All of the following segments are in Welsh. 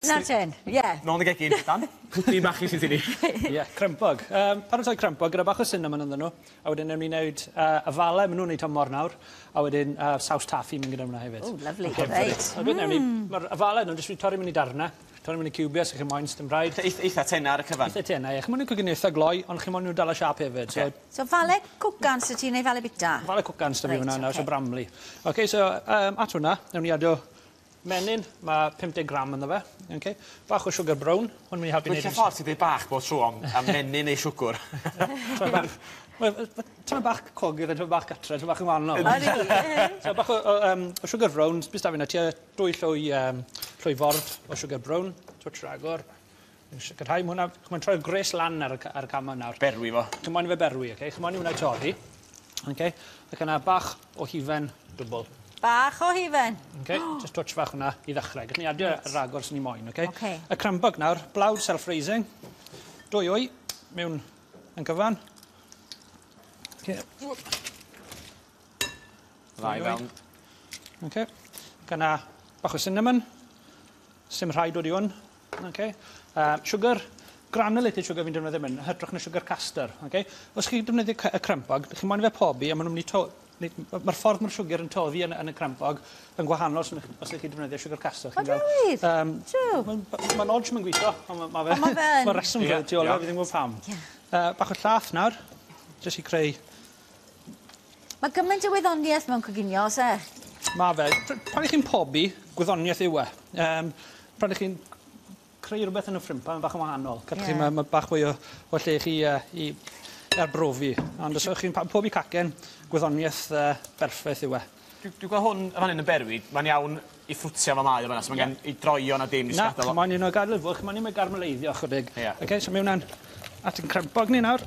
Nawr ten, ie. Nôl yn y gegin, Dan. Pwdin bach i sydd i ni. Ie, crempog. Paratoi crempog gyda bach o cinnamon ynddyn nhw. A wedyn newn ni wneud afale, maen nhw'n neud tymor nawr. A wedyn saws taffi mynd gyda hwnna hefyd. O, lovely, reit. So beth newn ni, mae'r afale nhw'n jyst wedi torri mewn i darnau. Torri mewn i ciwbiau, so chi'n moyn, dim rhaid. Eitha tena ar y cyfan. Eitha tena, ie. Chi'n moyn nhw'n coginio eitha gloi, ond chi'n moyn nhw dal y siâp hefyd. So, so fale cwcan sy ti'n neu fale bita? Fale cwcan sy fi hwnna nawr, so bramley. OK, so at hwnna, newn ni adio menyn, mae 50 gram ynddo fe. Okay. Bach o sugar brown, hwn mynd i helpu wneud... Dwi'n ffordd ti'n dweud bach bod tro am menyn neu siwgr. Ti'n bach cogydd, ti'n bach gatre, ti'n bach yn wahanol. So bach o sugar brown, bys da fi yna, tua 2 llwy ford o sugar brown, twtsh ragor. Sicrhau, mae'n troi'r gres lan ar y cam nawr. Berwi fo. Chi'n moyn i fe berwi, okay? Chi'n moyn i hwnna i torri. Okay. Ac yna bach o hufen dwbl. Bach o hufen. Okay, just touch fach hwnna i ddechrau. Gallwn ni adio ragor sy'n ni moyn, okay? Okay. Y crempog nawr, blawd self-raising. 2 wy mewn yn cyfan. Okay. Ddau fewn. Okay. Ac yna bach o cinnamon. Sim rhaid dod i hwn. Okay. Sugar, granulated sugar fi'n defnyddio mynd, hytrach na sugar caster. Okay. Os chi'n defnyddio y crempog, chi'n moyn fe pobi a maen nhw'n mynd i mae'r ffordd mae'r siwgr yn toddi yn y crempog yn gwahanol os ydych chi'n defnyddio siwgr caster. O, wir? Mae'n odge mae'n gweithio, ond mae reswm tu ôl, fi ddim yn gwybod pam. Bach o llath nawr, jyst i creu... Mae gymaint o wyddoniaeth mewn coginio, oes e? Mae fe. Pan ych chi'n pobi, gwyddoniaeth yw e. Pan ych chi'n creu rhywbeth yn y ffrimpan, mae'n bach yn wahanol. Mae bach fwy o lle chi i arbrofi. Ond os ydych chi'n pobi cacen, gwyddoniaeth berffaith yw e. Dwi'n gweld hwn yn fan hyn yn berwi, mae'n iawn i ffrwtio fel mae o fan'na, so mae'n gen i droio na dim i sgadael. Na, mae'n un o gadael fwch, mae'n un o'i garmeleiddio chydig. Okay, so mewn at yn crempog ni nawr.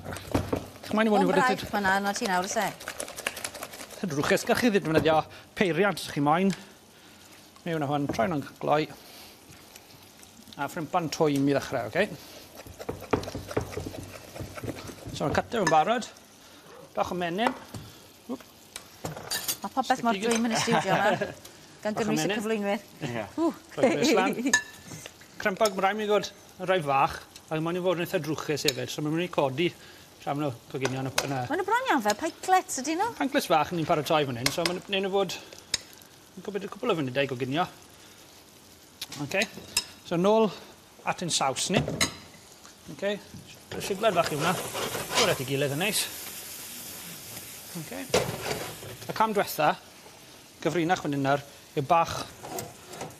Mae'n i fod yn fan'na, no ti nawr, oes e? Drwchus, gallwch chi ddefnyddio peiriant os chi moyn. Mewn â hwn, troi nhw'n gloi. A ffrimpan twym i ddechrau, okay? So mae'n cytio yn barod. Bach o menyn. Mae popeth mor dwym yn y studio yma. Gan gynnwys y cyflwynwyr. Ie. Crempog, mae rhaid mi ddod yn rhai fach, ac mae'n i fod yn eitha drwchus hefyd, so mae'n mynd i codi tra maen nhw coginio yn y... Maen nhw bron iawn fel pikelets, ydyn nhw? Pikelets fach ni'n paratoi fan hyn, so mae'n nhw fod yn gwybod cwpl o funudau i goginio. Okay. So nôl at ein saws ni. Okay. Sigled fach i hwnna. Dod at ei gilydd yn neis. Okay. Y cam diwetha, gyfrinach fan hyn nawr, yw bach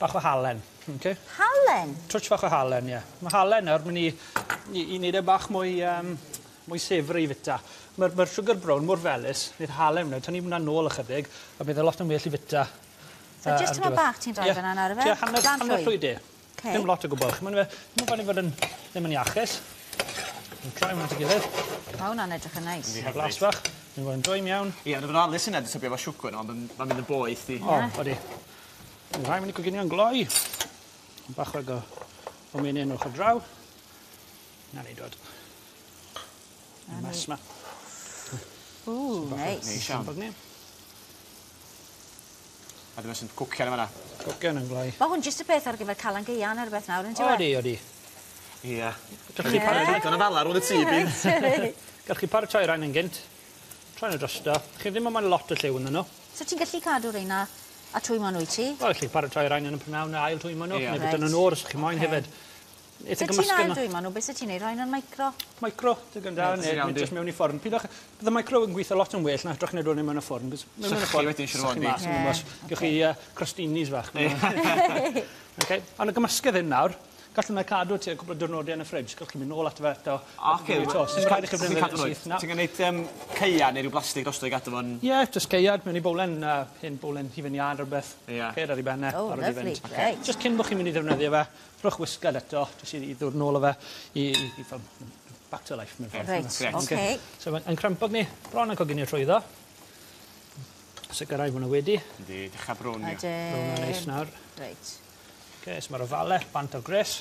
o halen. Okay. Halen? Twtsh fach o halen, ie. Mae halen nawr mynd i wneud e bach mwy sefri i fita. Mae'r sugar brown mor felys, wneud halen nawr, tynnu hwnna nôl ychydig, a bydd e lot yn well i fita. So jyst tyma bach ti'n rhoi fyna nawr, efe? Ie, hanner llwy de. Dim lot o gwbl. Mae'n fod yn ddim yn iachus. Yn troi hwnna at ei gilydd. Mae hwnna'n edrych yn neis. Glas fach. Mae'n fod yn dwym iawn. Ie, ond efo'n alus yna, dwi'n tybio efo siwgr, ond mae'n mynd yn boeth i. O, odi. Mae'n rhaid mynd i coginio'n gloi. Bach o menyn ochr draw. Na ni dod. Y mess ma. Ww, neis. Neis iawn. A dyma sy'n cwcian yma. Cwcian yn gloi. Mae hwn jyst y peth ar gyfer Calan Gaeaf neu rhywbeth nawr, yn dyw e? Odi, odi. Ie. Gallwch chi paratoi... Digon o fala rownd y tŷ, bydd. Gallwch chi paratoi rhain yn gynt. Troi nhw drosto. Chi ddim yn moyn lot o lliw ynddyn nhw. So ti'n gallu cadw rheina a twymo nhw i ti? Wel, gallu paratoi rhain yn y prynhawn a ail twymo nhw. Neu bwyta nhw'n oer os chi moyn hefyd. So ti'n ail dwymo nhw, beth sy'n ti'n neud? Rhain yn micro? Micro, digon da, neu jyst mewn i ffwrn. Pidwch, bydd y micro yn gweithio lot yn well na hytrach na dod mewn y ffwrn. Sychu wedyn, siŵr o fod. Gewch chi crostinis fach. Ond y gymysgedd hyn nawr, gallwn nhw cadw ti cwpl o diwrnodau yn y ffridge. Gallwch chi mynd nôl ato fe eto. Oce, sy'n rhaid i chi ddefnyddio syth. Ti'n gwneud caead neu rhyw blastig drosto i gadw fo'n... Ie, jyst caead mewn i bowlen, hen bowlen hufen iâ neu rhywbeth. Caead ar ei ben e, barod i fynd. Jyst cyn bod chi'n mynd i ddefnyddio fe, rhowch wisgad eto, jyst i ddod nôl o fe, i fel back to life mewn ffordd. Reit, oce. So yn crempog ni, bron yn coginio trwyddo. Sicrhau bod nhw wedi. Yndi, dechrau brown. Brown yn neis nawr. Reit. Okay, so mae'r ofale, bant o'r gres.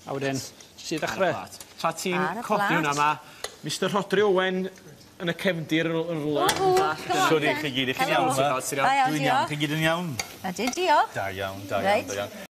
A wedyn, jyst i ddechrau. Tra ti'n codi hwnna, mae Mr Rhodri Owen yn y cefndir yn rhywle. Siwr i chi gyd, i chi'n iawn? Dwi'n iawn, chi gyd yn iawn? Ydyn, diolch. Da iawn, da iawn, da iawn.